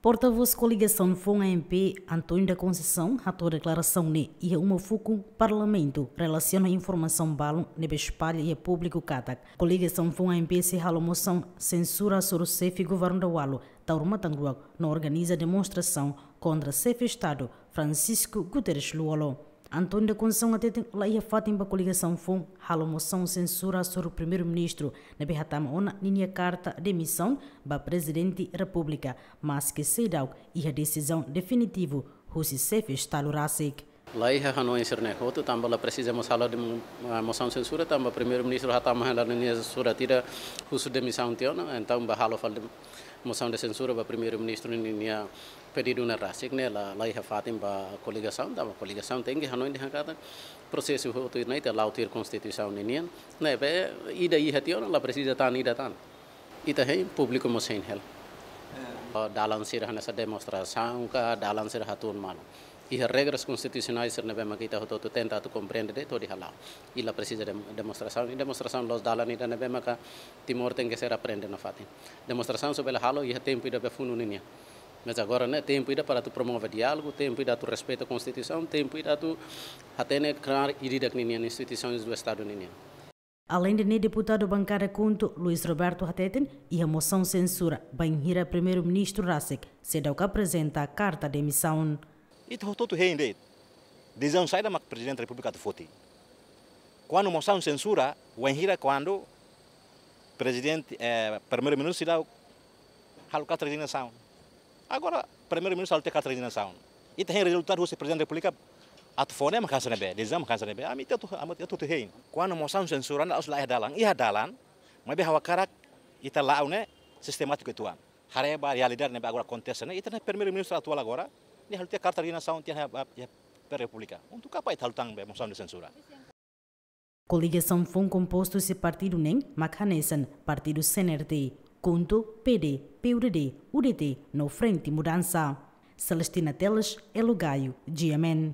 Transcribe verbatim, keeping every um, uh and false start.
Portavós koligasaun foun A M P, António da Conceição, hato'o deklarasaun ne'e iha uma fukun Parlamentu relasiona informasaun balun ne'ebé espalla iha públiku katak koligasaun foun A M P sei halo mosaun sensura hasoru xefe governu Dawalu, Taur Matan Ruak, no organiza demonstrasaun kontra xefe Estadu Francisco Guterres Lú-Olo. António da Conceição hateten la iha fatin ba koligasaun foun halo mosaun sensura hasoru Primeiru-Ministru ne'ebé hatama ona ninia karta demisaun ba Prezidente Repúblika, maske seidauk iha desizaun definitivu husi xefe Estadu rasik. La iha hanoin sira-ne'e hotu, tanba la presiza mós halo de mo-, ah, mosaun sensura, tanba Primeiru-Ministru hatama hela ninia surat ida husu demisaun tiha ona, entaun ba halo fali mosaun de sensura ba Primeiru-Ministru ninia pedidu ne'e rasik ne'e la, la iha fatin ba koligasaun, tanba koligasaun tenke hanoin dehan katak prosesu hotu ne'e ita la'o tuir Konstituisaun ninian, ne'ebé ida iha tiha ona, la presiza tan ida tan. Ita hein, públiku mós hein hela. Oh, dalan sira hanesan demonstrasaun ka, dalan sira hatún malu. Iha regras konstitusionais sira ne'ebé maka ita hotu-hotu tenta atu komprende de'it hodi hala'o. I la presiza dem-, demonstrasaun, i demonstrasaun la'ós dalan ida ne'ebé maka Timor tenke ser aprende nafatin. Demonstrasaun só bele halo iha tempu ida be funu ninian. Mas agora ne'e tempu ida para atu promove diálogu, tempu ida atu respeita Konstituisaun, tempu ida atu hatene klaru ida-idak ninian, instituisaun do Estadu ninian. Aleinde ne'e, deputadu bankada KHUNTO, Luis Roberto hateten, iha mosaun sensura bainhira Primeiru-Ministru rasik seidauk aprezenta karta demisaun. Ita hotu-hotu hein de'it. Desizaun saida mak Prezidente Repúblika atu foti. Kuandu mosaun sensura, wainhira kuandu Prezidente, eh, Primeiru-Ministru seidauk halo karta rezignasaun. Agora, Primeiru-Ministru halo tiha karta rezignasaun. Ita hein rezultadu husi Prezidente Repúblika atu fó ne'e mak hanesan ne'ebé, desizaun mak hanesan ne'ebé. Ami ita hotu, ami ita hotu-hotu hein. Kuandu mosaun sensura ne'e la'ós la iha dalan, iha dalan, maibé ha'u hakarak ita la'o ne'e sistemátiku uitoan. Haree ba realidade ne'ebé agora akontese ne'e, ita-nia Primeiru-Ministru atuál agora, nia halo tiha karta rezignasaun tiha iha, iha Repúblika. Untuk apa ita halo tan be mosaun de sensura? Koligasaun foun kompostu husi partidu neen mak hanesan partidu C N R T, KHUNTO, P D, P U D D, U D T, no Frente Mudança. Celestina Teles, Elo Gaio, G M N.